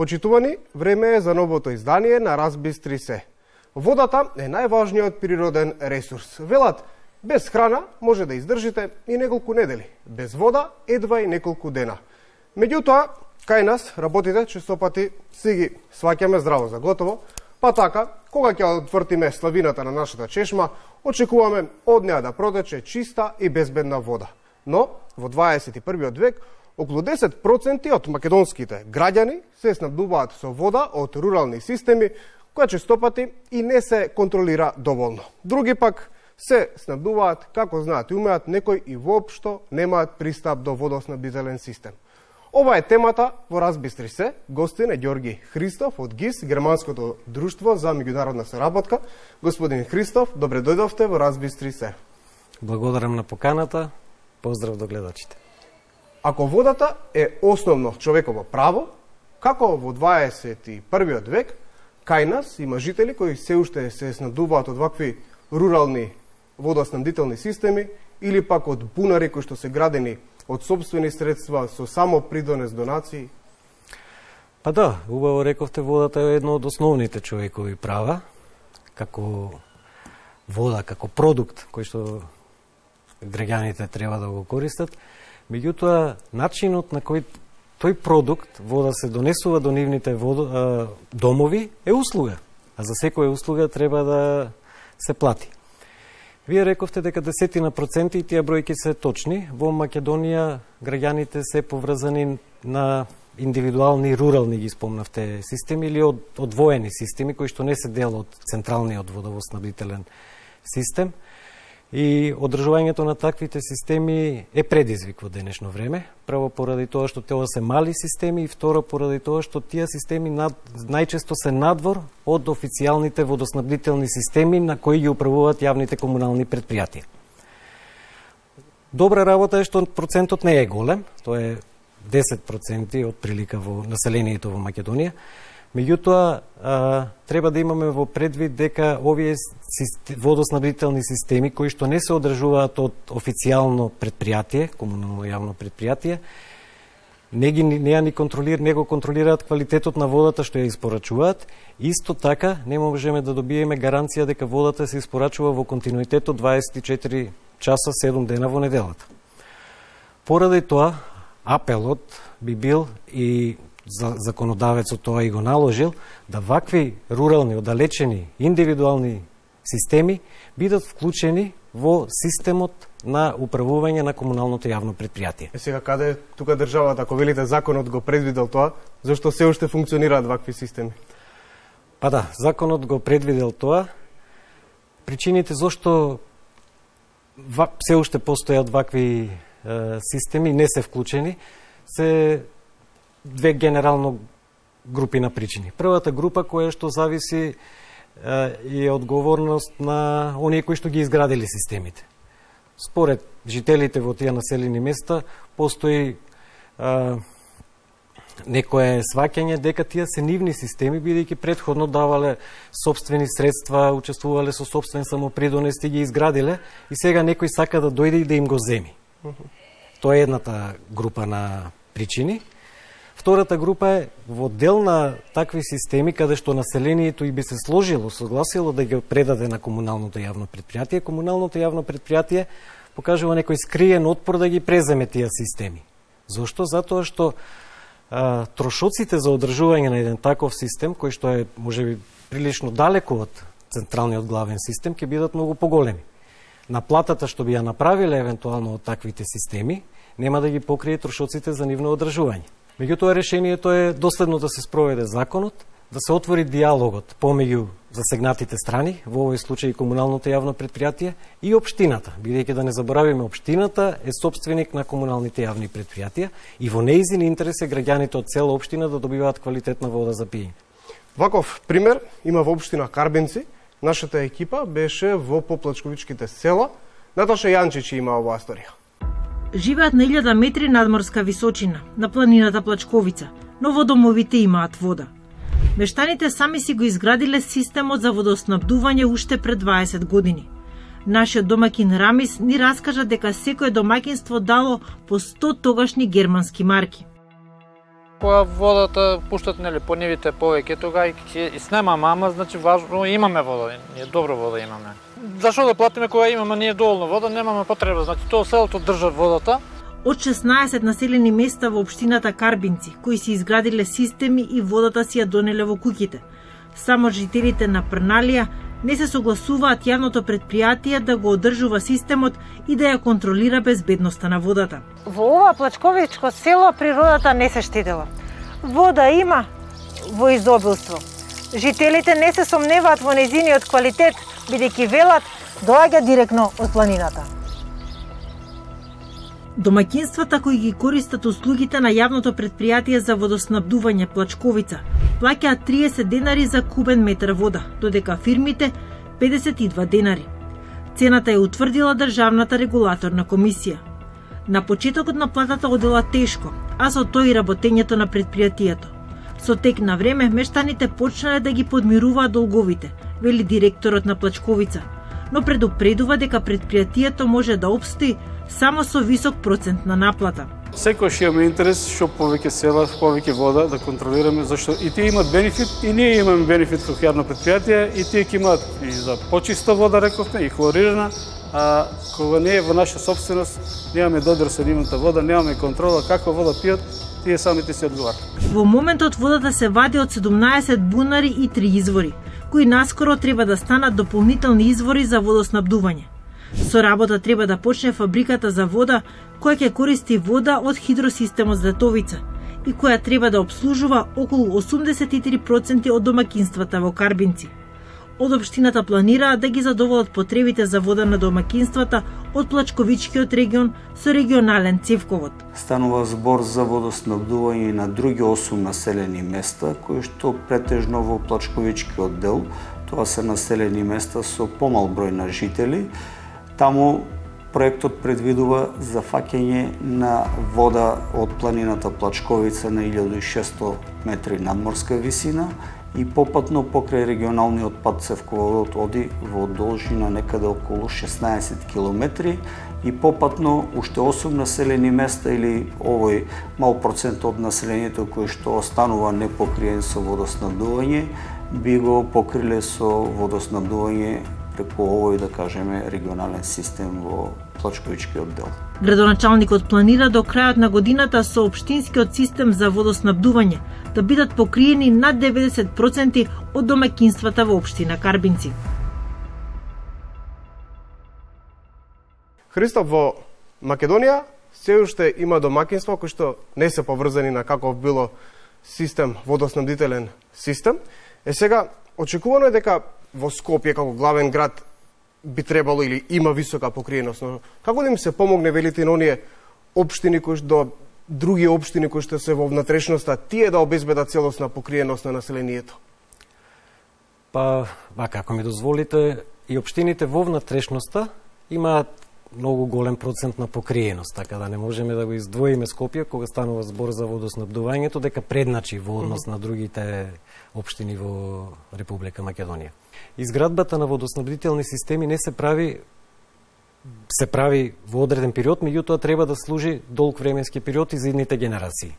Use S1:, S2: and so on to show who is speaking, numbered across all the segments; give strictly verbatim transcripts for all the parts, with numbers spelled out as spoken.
S1: Почитувани, време е за новото издание на Разбистри се. Водата е најважниот природен ресурс. Велат, без храна може да издржите и неколку недели, без вода едва и неколку дена. Меѓутоа, кај нас работите честопати си ги сваќаме здраво за готово, па така, кога ќе отвртиме славината на нашата чешма, очекуваме од неа да протече чиста и безбедна вода. Но, во дваесет и првиот век, околу десет проценти од македонските граѓани се снабдуваат со вода од рурални системи, која честопати и не се контролира доволно. Други пак се снабдуваат како знаат и умеат, некои и воопшто немаат пристап до водоснабдителен систем. Ова е темата во Разбистри се. Гостин е Ѓорги Христов од ГИС, Германското друштво за меѓународна соработка. Господин Христов, добре дојдовте во Разбистри се.
S2: Благодарам на поканата. Поздрав до гледачите.
S1: Ако водата е основно човеково право, како во дваесет и првиот век кај нас има жители кои се уште се снабдуваат од вакви рурални водоснабдителни системи или пак од бунари кои што се градени од собствени средства со само придонес донации?
S2: Па да, убаво рековте, водата е едно од основните човекови права, како вода, како продукт кој што граѓаните треба да го користат. Меѓутоа, начинот на кој тој продукт, вода, се донесува до нивните водо, а, домови е услуга. А за секоја услуга треба да се плати. Вие рековте дека десетина проценти, и тие бројки се точни. Во Македонија граѓаните се поврзани на индивидуални рурални, ги спомнавте, системи или од одвоени системи кои што не се дел од централниот водоснабдителен систем. И одржувањето на таквите системи е предизвик во денешно време, прво поради тоа што тоа се мали системи и второ поради тоа што тие системи над, најчесто се надвор од официјалните водоснабдителни системи на кои ги управуваат јавните комунални предпријатија. Добра работа е што процентот не е голем, тоа е десет проценти од прилика во населението во Македонија. Меѓутоа, треба да имаме во предвид дека овие водоснабдителни системи, кои што не се одржуваат од официјално предпријатие, комунално јавно предпријатие, не, ги, не, ни контролир, не го контролираат квалитетот на водата што ја испорачуваат. Исто така, не можеме да добиеме гаранција дека водата се испорачува во континуитет од дваесет и четири часа, седум дена во неделата. Поради тоа, апелот би бил и за законодавецот тоа и го наложил, да вакви рурални, оддалечени, индивидуални системи бидат вклучени во системот на управување на комуналното јавно предпријатие.
S1: Е сега каде тука државата, ако велите законот го предвидел тоа, зашто се уште функционираат вакви системи?
S2: Па да, законот го предвидел тоа. Причините зашто се уште постојат вакви е, системи, не се вклучени, се две генерално групи на причини. Првата група која што зависи е одговорност на оние кои што ги изградили системите. Според жителите во тие населени места постои а, некое сваќање дека тие се нивни системи, бидејќи претходно давале собствени средства, учествувале со собствен самопридонес и ги изградиле, и сега некој сака да дојде и да им го земи. Тоа е едната група на причини. Втората група е во дел на такви системи каде што населението и би се сложило, согласило да ги предаде на комуналното јавно предпријатие. Комуналното јавно предпријатие покажува некој скриен отпор да ги преземе тие системи. Зошто? Затоа што а, трошоците за одржување на еден таков систем, кој што е можеби прилично далеко од централниот главен систем, ќе бидат многу поголеми. Наплатата што би ја направиле евентуално од таквите системи нема да ги покрие трошоците за нивно одржување. Меѓутоа, решението е доследно да се спроведе законот, да се отвори диалогот помеѓу засегнатите страни, во овој случај комуналното јавно предпријатие и општината, бидејќи да не заборавиме, општината е собственик на комуналните јавни предпријатија и во нејзин интерес е граѓаните од цела општина да добиваат квалитетна вода за пиење.
S1: Ваков пример има во општина Карбинци. Нашата екипа беше во поплачковичките села. Наташа Јанчич има оваа историја.
S3: Живеат на илјада метри надморска височина, на планината Плачковица, но во домовите имаат вода. Мештаните сами си го изградиле системот за водоснабдување уште пред дваесет години. Нашиот домакин Рамис ни раскажа дека секое домакинство дало по сто тогашни германски марки.
S4: Кога водата пуштат нели по нивите повеќе, тога и ќе снема мама, значи важно имаме вода, ние добро вода имаме. Зашо да платиме кога имаме ние доволно вода, немаме потреба, значи тоа селото држа водата.
S3: Од шеснаесет населени места во општината Карбинци, кои си изградиле системи и водата си ја донеле во куќите. Само жителите на Прналија не се согласуваат јавното предпријатие да го одржува системот и да ја контролира безбедноста на водата.
S5: Во ова плачковичко село природата не се штедела. Вода има во изобилство. Жителите не се сомневаат во нејзиниот квалитет, бидејќи велат доаѓа директно од планината.
S3: Домаќинствата кои ги користат услугите на јавното предпријатие за водоснабдување Плачковица плаќаат триесет денари за кубен метар вода, додека фирмите педесет и два денари. Цената ја утврдила Државната регулаторна комисија. На почетокот на платата одела тешко, а со тој и работењето на предпријатието. Со тек на време мештаните почнале да ги подмируваат долговите, вели директорот на Плачковица, но предупредува дека предпријатието може да опстои само со висок процент на наплата.
S6: Секојаш имаме интерес што повеќе села, повеќе вода да контролираме, зашто и тие имаат бенефит, и ние имаме бенефит како јавно предпријатие, и тие ќе имаат и за почиста вода, рековме, и хлорирана, а кога не е во наша собственост, немаме додир со нивната вода, немаме контрола каква вода пијат, тие самите се одговарат.
S3: Во моментот водата се вади од седумнаесет бунари и три извори, кои наскоро треба да станат дополнителни извори за водоснабдување. Со работа треба да почне фабриката за вода, која ќе користи вода од хидросистемот Златовица и која треба да обслужува околу осумдесет и три проценти од домаќинствата во Карбинци. Од општината планираат да ги задоволат потребите за вода на домаќинствата од Плачковичкиот регион со регионален цевковод.
S7: Станува збор за водоснабдување на други осум населени места, кои што претежно во Плачковичкиот дел, тоа се населени места со помал број на жители. Таму проектот предвидува зафаќање на вода од планината Плачковица на илјада и шесто метри надморска висина и попатно покрај регионалниот пат цевководот оди во должина некаде околу шеснаесет километри и попатно уште осум населени места или овој мал процент од населението кој што останува непокриен со водоснабдување би го покриле со водоснабдување преку овој, да кажеме, регионален систем во Плачковичкиот дел.
S3: Градоначалникот планира до крајот на годината со општинскиот систем за водоснабдување да бидат покриени над деветдесет проценти од домаќинствата во општина Карбинци.
S1: Христоф, во Македонија се уште има домаќинства кои што не се поврзани на каков било систем, водоснабдителен систем. Е сега, очекувано е дека во Скопје како главен град би требало или има висока покриеност, но како да им се помогне, велите, на оние општини кои што други општини кои што се во внатрешноста, тие да обезбедат целосна покриеност на населението?
S2: Па, вака, ако ми дозволите, и општините во внатрешноста имаат многу голем процент на покриеност, така да не можеме да го издвоиме Скопје кога станува збор за водоснабдувањето, дека предначи во однос на другите општини во Република Македонија. Изградбата на водоснабдителни системи не се прави се прави во одреден период, меѓутоа треба да служи долг временски период и за идните генерации.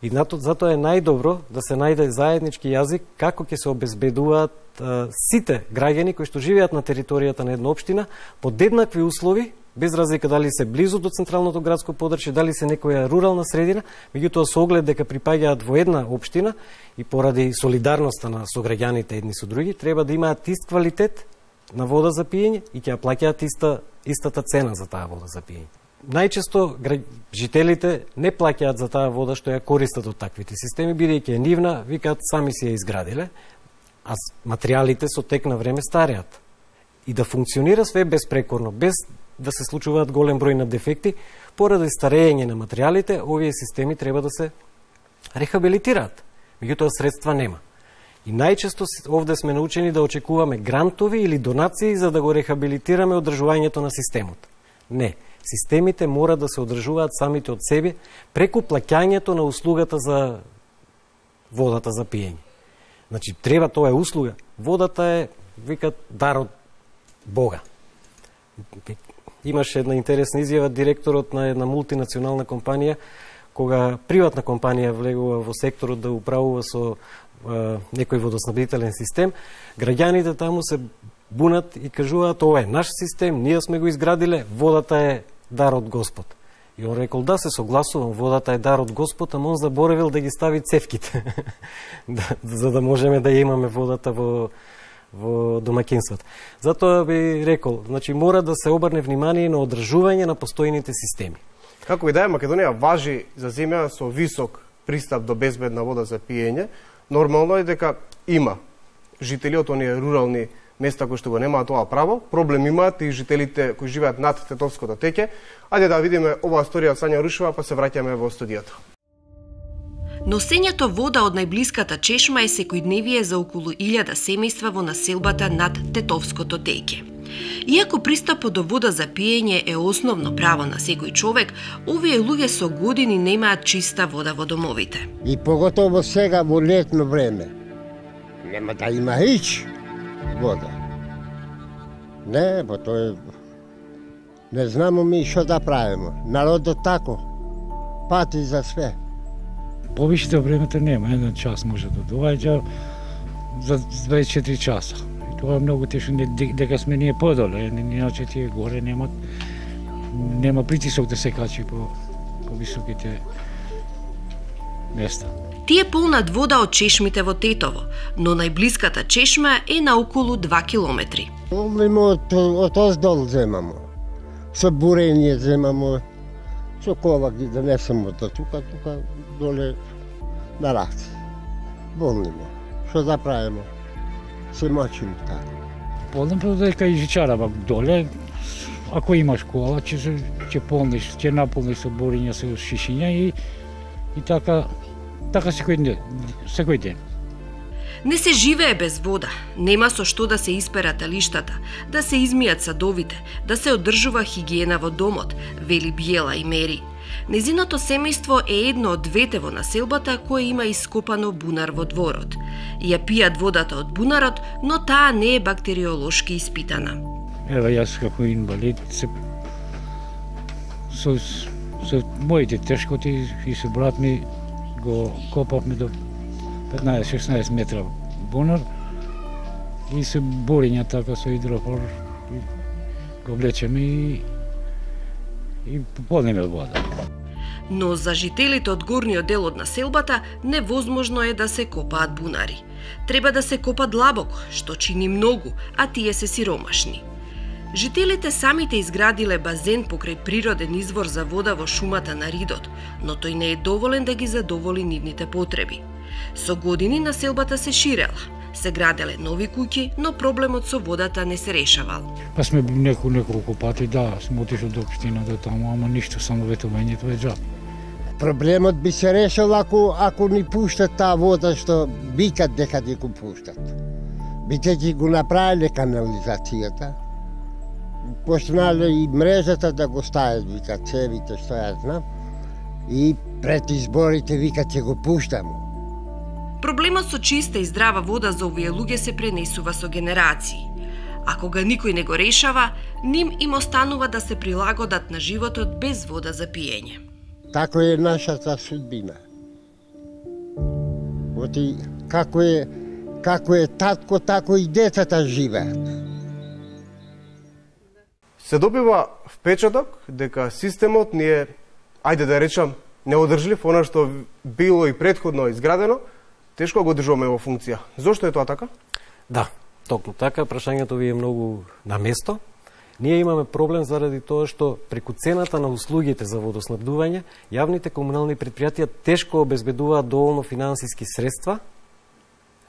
S2: И затоа е најдобро да се најде заеднички јазик како ќе се обезбедуваат а, сите граѓани кои што живеат на територијата на една општина под еднакви услови, без разлика дали се близу до централното градско подрачје, дали се некоја рурална средина, меѓутоа со оглед дека припаѓаат во една општина и поради солидарноста на сограѓаните едни со други, треба да имаат ист квалитет на вода за пиење и ќе ја плаќаат иста, истата цена за таа вода за пиење. Најчесто жителите не плаќаат за таа вода што ја користат од таквите системи, бидејќи е нивна, викаат сами си ја изградиле, а материјалите со тек на време стареат. И да функционира све безпрекорно, без да се случуваат голем број на дефекти, поради старење на материјалите, овие системи треба да се рехабилитираат. Меѓутоа средства нема. И најчесто овде сме научени да очекуваме грантови или донации за да го рехабилитираме одржувањето на системот. Не. Системите мора да се одржуваат самите од себе преку плаќањето на услугата за водата за пиење. Значи, треба, тоа е услуга. Водата е, викат, дар од Бога. Имаше една интересна изјава директорот на една мултинационална компанија кога приватна компанија влегува во секторот да управува со е, некој водоснабдителен систем, граѓаните таму се бунат и кажуваат ова е наш систем, ние сме го изградиле, водата е дар од Господ. И он рекол да, се согласувам, водата е дар од Господ, ама он заборавил да ги стави цевките, да, за да можеме да ја имаме водата во во домаќинството. Затоа би рекол, значи мора да се обрне внимание на одржување на постојните системи.
S1: Како и да е, Македонија важи за земја со висок пристап до безбедна вода за пиење. Нормално е дека има жители од оние рурални места кои што го немаат тоа право. Проблем имаат и жителите кои живеат над Тетовското теќе. Ајде да видиме оваа сторија од Сања Рушева, па се враќаме во студиото.
S8: Носењето вода од најблиската чешма е секојдневие за околу илјада семејства во населбата над Тетовското теќе. Иако пристапот до вода за пиење е основно право на секој човек, овие луѓе со години немаат чиста вода во домовите.
S9: И поготово сега во летно време. Нема да има хич вода. Не, бо тоа е... Не знамо ми што да правиме. Народот тако пати за све.
S10: Повеќето времето нема, еден час може да доаѓа за дваесет и четири часа. И тоа е многу тешко, дека сме ние подоле, иначе тие горе немат, нема притисок да се качи по, по високите места.
S8: Тие полнат вода од чешмите во Тетово, но најблиската чешма е на околу два километри.
S9: Помнимо од, од оздол земамо, со бурење земамо, со кола ги донесемо до тука, тука доле на раци. Волнимо. Што да правиме? Се мачимо така.
S10: Полнам дека и жичарава доле, ако имаш кола, ќе ќе полниш, ќе наполниш со бурење, со шишиња и и така така секој ден, секој ден.
S8: Не се живее без вода, нема со што да се исперат талиштата, да се измијат садовите, да се одржува хигиена во домот, вели Биела и Мери. Незиното семејство е едно од двете во населбата кое има ископано бунар во дворот. Ја пијат водата од бунарот, но таа не е бактериолошки испитана.
S10: Ева јас како инвалид се со, со моите тешкоти и со брат ми го копавме до петнаесет-шеснаесет метра бунар и се бориња така со идрофор и го влечеме и и полнеме вода.
S8: Но за жителите од горниот дел од населбата невозможно е да се копаат бунари. Треба да се копа длабоко, што чини многу, а тие се сиромашни. Жителите самите изградиле базен покрај природен извор за вода во шумата на Ридот, но тој не е доволен да ги задоволи нивните потреби. Со години населбата се ширела, се граделе нови куќи, но проблемот со водата не се решавал.
S10: Па сме неко, неколку пати, да, сме отишли до општина до таму, ама ништо, само ветувањето е џаб.
S9: Проблемот би се решил ако, ако ни пуштат таа вода што викат дека ги го пуштат. Бидејќи го направиле канализацијата, почнале и мрежата да го стават, викат цевите, што ја знам, и пред изборите викат ќе го пуштамо.
S8: Проблемот со чиста и здрава вода за овие луѓе се пренесува со генерации. А кога никој не го решава, ним им останува да се прилагодат на животот без вода за пиење.
S9: Тако е нашата судбина. Оти, како е, како е татко, тако и децата живеат.
S1: Се добива впечаток дека системот ни е, ајде да речам, неодржлив, она што било и претходно изградено, тешко го одржуваме во функција. Зошто е тоа така?
S2: Да, токму така, прашањето ви е многу на место. Ние имаме проблем заради тоа што преку цената на услугите за водоснабдување, јавните комунални предпријатија тешко обезбедуваат доволно финансиски средства,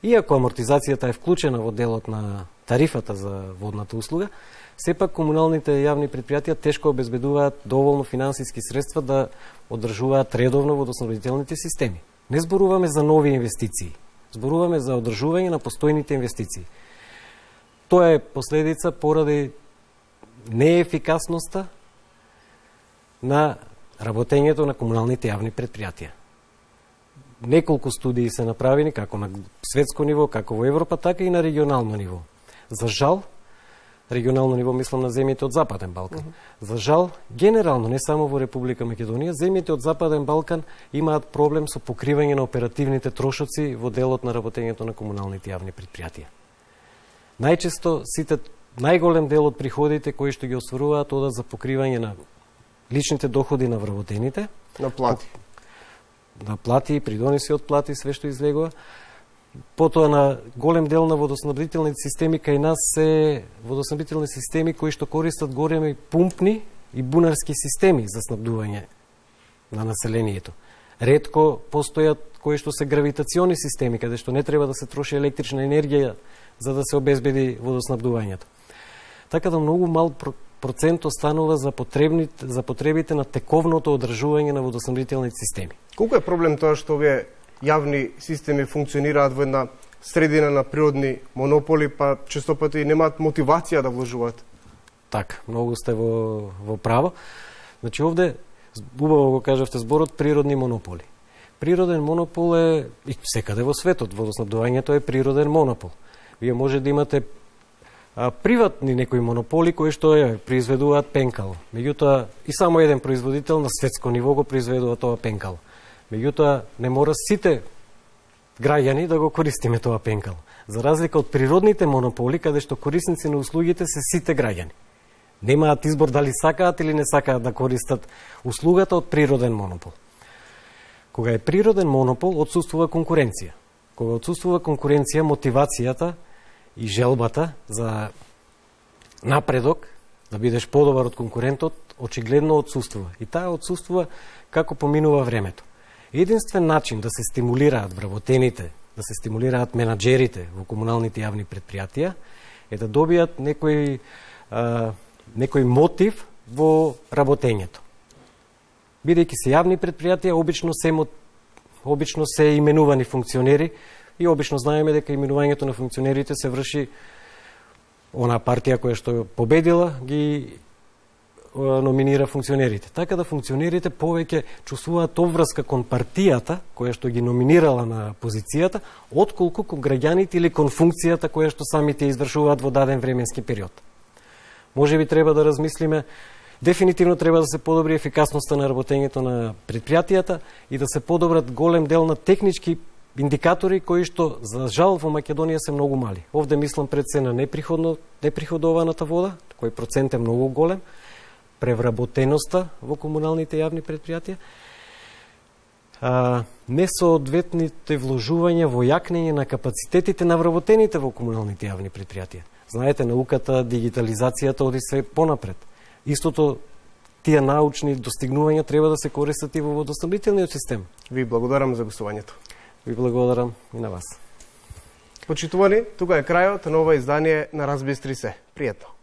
S2: иако амортизацијата е вклучена во делот на тарифата за водната услуга, сепак комуналните јавни предпријатија тешко обезбедуваат доволно финансиски средства да одржуваат редовно водоснабдителните системи. Не зборуваме за нови инвестиции, зборуваме за одржување на постојните инвестиции. Тоа е последица поради неефикасноста на работењето на комуналните јавни предпријатија. Неколку студии се направени како на светско ниво, како во Европа, така и на регионално ниво. За жал, регионално ниво мислам на земјите од Западен Балкан. Mm -hmm. За жал, генерално, не само во Република Македонија, земјите од Западен Балкан имаат проблем со покривање на оперативните трошоци во делот на работењето на комуналните јавни предпријатија. Најчесто сите најголем дел од приходите кои што ги осваруваат одат за покривање на личните доходи на вработените,
S1: на плати.
S2: На плати, придониси од плати, све што излегува. Потоа на голем дел на водоснабдителните системи кај нас се водоснабдителни системи кои што користат големи пумпни и бунарски системи за снабдување на населението. Ретко постојат кои што се гравитациони системи, каде што не треба да се троши електрична енергија за да се обезбеди водоснабдувањето. Така да многу мал процент останува за потребните за потребите на тековното одржување на водоснабдителните системи.
S1: Колку е проблем тоа што овие јавни системи функционираат во една средина на природни монополи, па често пати немаат мотивација да вложуваат?
S2: Така, многу сте во, во право. Значи овде, убаво го кажавте зборот, природни монополи. Природен монопол е и секаде во светот, водоснабдувањето е природен монопол. Вие може да имате а, приватни некои монополи кои што е, произведуваат пенкало. Меѓутоа, и само еден производител на светско ниво го произведува тоа пенкало. Меѓутоа, не мора сите граѓани да го користиме тоа пенкало. За разлика од природните монополи, каде што корисници на услугите се сите граѓани. Немаат избор дали сакаат или не сакаат да користат услугата од природен монопол. Кога е природен монопол, отсуствува конкуренција. Кога отсуствува конкуренција, мотивацијата и желбата за напредок, да бидеш подобар од конкурентот, очигледно отсуствува. И таа отсуствува како поминува времето. Единствен начин да се стимулираат вработените, да се стимулираат менаџерите во комуналните јавни предпријатија е да добијат некој, а, некој мотив во работењето. Бидејќи се јавни предпријатија, обично се, обично се именувани функционери и обично знаеме дека именувањето на функционерите се врши она партија која што победила, ги номинира функционерите. Така да функционерите повеќе чувствуваат обврска кон партијата која што ги номинирала на позицијата, отколку кон граѓаните или кон функцијата која што самите извршуваат во даден временски период. Може би треба да размислиме, дефинитивно треба да се подобри ефикасноста на работењето на предпријатијата и да се подобрат голем дел на технички индикатори кои што за жал во Македонија се многу мали. Овде мислам пред се на неприходно неприходованата вода, кој процент е многу голем, превработеноста во комуналните јавни предпријатија, а, несоодветните вложувања во јакнење на капацитетите на вработените во комуналните јавни предпријатија. Знаете, науката, дигитализацијата оди све понапред. Истото тие научни достигнувања треба да се користат и во водоснабдителниот систем.
S1: Ви благодарам за гостувањето.
S2: Ви благодарам и на вас.
S1: Почитувани, тука е крајот на ова издание на Разбистри се. Пријатно.